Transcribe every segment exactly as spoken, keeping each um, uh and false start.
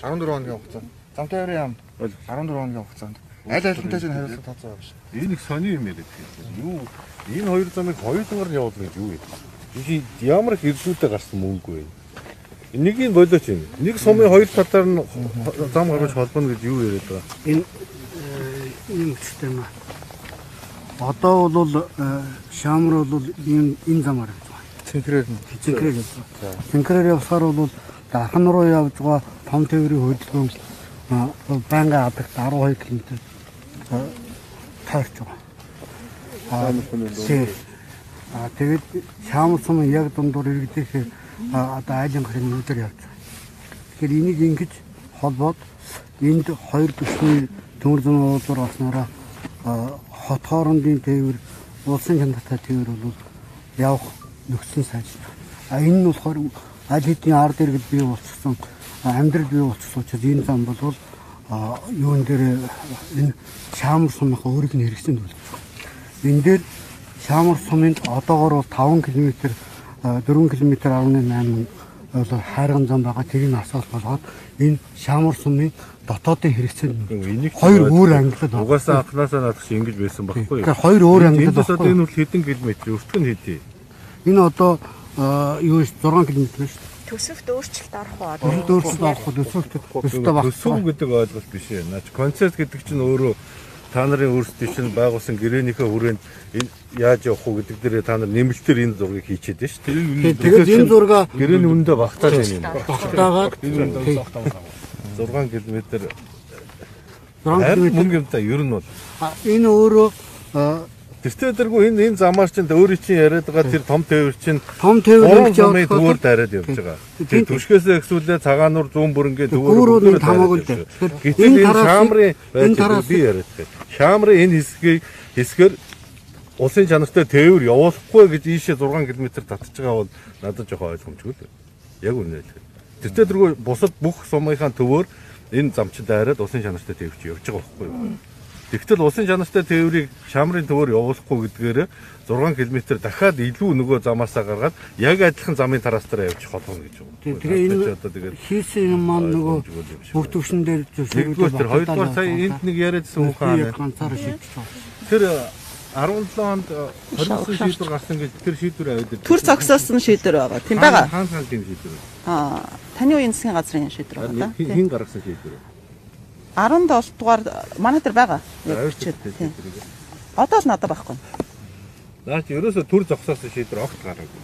арван дөрвөн хоногийн хугацаанд. Зам тээврийн яам арван дөрвөн хоногийн хугацаанд. Аль альхантай ч хариуцлага тооцоо байгаа шүү. Энэ их сони юм яриад байна. Юу энэ хоёр замыг хоёулангаар нь явуулна гэж юу вэ? Энэ ямар их ирлүүдээ гарсан мөнгө вэ? Энийг нь болооч юм. Нэг сумын хоёр талаар нь зам гаргаж холбоно гэж юу яриад байгаа? Энэ юм систем аа. Одоо бол шаамар бол энэ энэ замаар явж байгаа. Цэнхрээр нь. Цэнхрээр явж байгаа. Цэнхрээр явсаар бол дархан руу явж байгаа том тээврийн хөдөлгөөн банга апект арван хоёр километр таарч байгаа. Аа тэгээд шаамар сум яг дундуур иргэдээс одоо айлын гарын нүдээр явж байгаа. Тэгэхээр энийг ингэж холбоод энд хоёр төсний төмөр зүүн уулуур олснороо хот хоорондын тээвэр, улсын чанартай тээвэр бол явах нөхцөл сайжруулах. А энэ нь болохоор аль хэдийн ард иргэд бий болчихсон, амьдрал бий болчихсон учраас энэ зам бол юун дээр энэ шаамар сумынхаа өөрийг нь хэрэгцээнд үлдэж байна. Энэ дээр шаамар сумынд одоогоор бол таван километр, дөрвөн километр арван найман бол хайрган зам байгаа. Тэрийг асуулт болгоод энэ шаамар сумын дотоодын хэрэгцээнд хоёр өөр ангилал байна. Угаасаа анхнаасаа надад чи ингэж байсан байхгүй юу? Тэгэхээр хоёр өөр ангилал байна. Одоо энэ бол хэдэн километр, өртгөн хэдий? Энэ одоо юу зургаан километр шүү дээ. Төсөвт өөрчлөлт орох уу? Төсөвт өөрчлөлт орох уу? Төсөвт төсөвт баг. Төсөв гэдэг ойлголт биш ээ. Наач концерт гэдэг чинь өөрөө та нарын өөрсдийн чинь байгуулсан гэрээнийхээ хүрээнд энэ яаж явах уу гэдэг дээр та нар нэмэлтээр энэ зургийг хийчихэд байна шүү. Тэгээд энэ зургаа гэрээний үнэндээ багтааж байна юм. Багтаагаад зургаан километр зургаан километр мөнгө юм та ер нь бол энэ өөрөө тэртээ дэргүй энэ энэ замаар чинь өөрийн чинь яриад байгаа тэр том тээвэр чинь том тээвэр гэж явах төвөр дараад явж байгаа. Тэр түшгээс эксүүлээ цагаануур зүүн бүрэнгээ төвөр хамаагүй. Гэтэл энэ шаамрын энэ тараас би яриад байна. Шаамрын энэ хэсгийг хэсгээр улсын чанартай тээвэр явуулахгүй гэж ийшээ зургаан километр татж байгаа бол надад жоохон ойлгомжгүй л. Яг үнэ л. Тэртээ дэргүй бусад бүх сумынхаа төвөр энэ замчид дайраад улсын чанартай тээвэр чи явж байгаа байхгүй юу? Тэгтэл улсын чанартай тээврийг шаамрын төвөр явуулахгүй гэдгээр зургаан километр дахиад илүү нөгөө замаасаа гаргаад яг адилхан замын тараас дараа явж холбоно гэж байна. Тэгээ энэ хийсэн юм маань нөгөө бүх төвшин дээр зөвшөөрөл тэр хоёрдугаар сая энд нэг яриадсан хүн хаана ганцаараа шийдэж байгаа. Тэр арван седем онд хоригдсон шийдвэр гарсан гэж тэр шийдвэр аваад төр зогсоосон шийдвэр байгаа. Тийм байгаа. Хаан хаан тийм шийдвэр. Аа, таны үеийн засгийн газрын шийдвэр байгаа. Хин гаргасан шийдвэр. арван долоо дугаар манай дээр байгаа. Одоо л надад байхгүй. Наач ерөөсө төр зогсоосон шийдвэр огт гараагүй.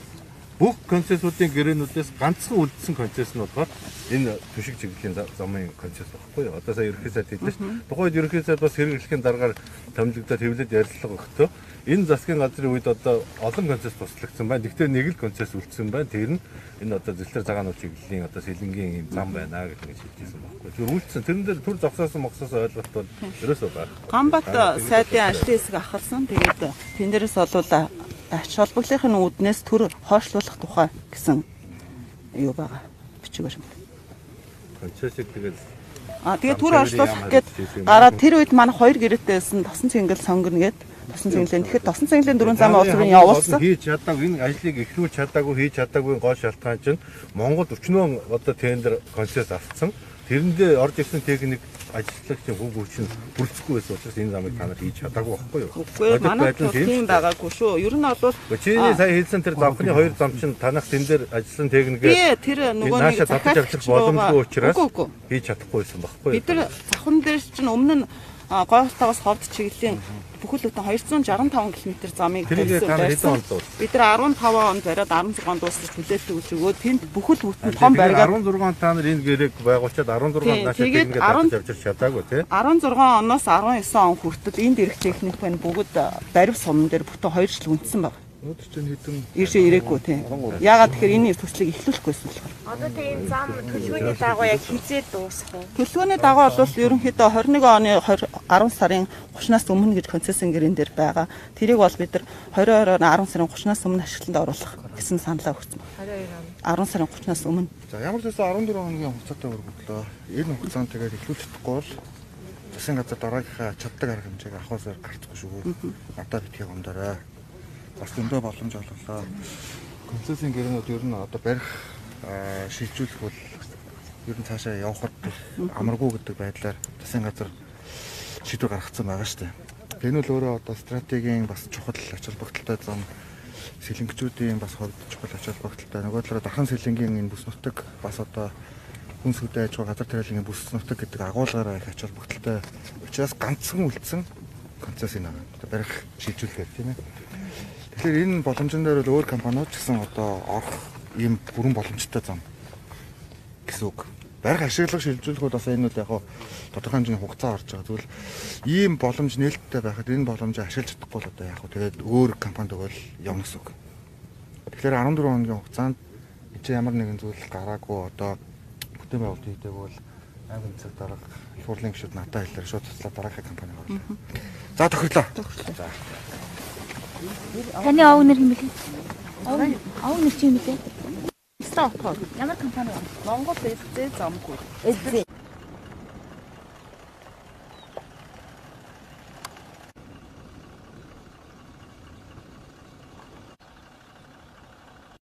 Бүх концессуудын гэрээнүүдээс ганцхан үлдсэн концесс нь болохоор энэ түшиг чиглэлийн замын концесс байхгүй юу? Одоо сая ерөнхий сайд хэлсэн шүү дээ. Тухайд ерөнхий сайд бас хэрэглэхийн дараагаар томилогдоод хэвлэлд ярилцлага өгтөө. Энэ засгийн газрын үед одоо олон концесс туслагдсан байна. Гэхдээ нэг л концесс үлдсэн байна. Тэр нь энэ одоо зэлтэр цагаан уул чиглэлийн одоо сэлэнгийн юм зам байна гэж ингэж хэлжсэн байхгүй. Тэр үлдсэн. Тэрэн дээр төр зогсоосон моксоос ойлголт бол ерөөсөө байна. Гамбат сайдын ажлын хэсэг ахалсан. Тэгээд тэн дээрээс олвол ач холбогдлын үүднээс төр хойшлуулах тухай гэсэн юу байгаа. Бичиг баримт. Концессыг тэгээд аа тэгээд төр хойшлуулах гээд гараад тэр үед манай хоёр гэрээтэйсэн тосон цэнгэл сонгоно гээд тосон цэнгэлэн тэгэхээр тосон цэнгэлэн дөрвөн замын улсрын явуулсан. Хийж чадаагүй энэ ажлыг эхлүүлж чадаагүй хийж чадаагүй гол шалтгаан чинь Монгол өчнөө одоо тендер концесс авсан. Тэрэндээ орж ирсэн техник ажиллагчийн хүн хүчин бүрцэхгүй байсан учраас энэ замыг та нар хийж чадаагүй байхгүй юу? Үгүй манай тийм байгаагүй шүү. Ер нь бол чиний сая хэлсэн тэр завхны хоёр зам чинь танах тэн дээр ажилласан техникээ тэр нөгөө нэг захиалж авчих боломжгүй учраас хийж чадахгүй байсан байхгүй юу? Бид нар завхан дээр чинь өмнө нь гойхолтоогоос ховд чиглэлийн бүхэл бүтэн двести шестьдесят пять км замыг тавьсан. Бид нар арван таван онд бариад арван зургаан дуусах хүлээлт өгч өгөөд тэнд бүхэл бүтэн том бариад арван зургаан та нар энэ гэрээг байгуулчаад арван зургаан наашаа техникээ татж авчирч чадаагүй тий. арван зургаан оноос арван девять он хүртэл энд ирэх техник байна бүгд барив сумн дээр бүтэн хоёр жил үндэсэн байна. Өнөөдөр чинь хэдэн иршээ ирээгүй тий. Яагаад тэгэхээр энэ төслийг эхлүүлэхгүйсэн болохоор. Одоо тэгээ энэ зам төлөвлөгөөний дагуу яг хизээ дуусах уу? Төлөвлөгөөний дагуу бол ерөнхийдөө двадцать нэг оны арван сарын гуравнаас өмнө гэж концессийн гэрэн дээр байгаа. Тэрийг бол бид нар двадцать deux оны арван сарын гуравнаас өмнө ашиглалтанд оруулах гэсэн саналаа өгсөн байна. арван сарын гуравнаас өмнө. За ямар ч байсан арван дөрвөн хоногийн хугацаатай өргөдлөө. Энэ хугацаанд тэгээд эхлүүлэхгүй бол засгийн газар дараагийнхаа чаддаг арга хэмжээг авахсаар гарцгүй шүү. Одоо битгий гомдорой. Бас дөндөө боломж олголоо. Концессийн гэрээнүүд ер нь одоо барих шилжүүлэх бол ер нь цаашаа явхад амаргүй гэдэг байдлаар засгийн газар шийдвэр гаргацсан байгаа шүү дээ. Энэ бол өөрөө одоо стратегийн бас чухал ач холбогдолтой зам, сэлэнгчүүдийн бас хувьд чухал ач холбогдолтой. Нөгөө талаараа дархан сэлэнгийн энэ бүс нутаг бас одоо хүн сүдэ аж ахуй газар тариалангийн бүс нутаг гэдэг агуулгаараа их ач холбогдолтой учраас ганцхан үлдсэн концесс энэ байгаа. Барих шийдвэрлэхээр тийм ээ. Тэгэхээр энэ боломжн дээр бол өөр компаниуд ч гэсэн одоо орох ийм бүрэн боломжтой зам гэсэн үг. Барих ашиглах шилжүүлэхүүд бас энэ бол яг хаа тодорхой хэмжээний хугацаа орж байгаа. Тэгвэл ийм боломж нээлттэй байхад энэ боломжийг ашиглаж чадахгүй бол одоо яг хаа тэгээд өөр компанид бол явна гэсэн үг. Тэгэхээр арван дөрвөн хоногийн хугацаанд чи ямар нэгэн зүйл гараагүй одоо бүтээн байгуулалт хийдэг бол аймаг цаг дарга их хурлын гишүүд надад хэлээр шууд цуцлаа дараахын компани орлоо. За тохирлоо. За. Таны овг нэр хэм бэлээ? Овг овг нэр чи юм бэлээ? Стоппор. Ямар компани вэ? Монгол эззээ замгүй. Эззээ.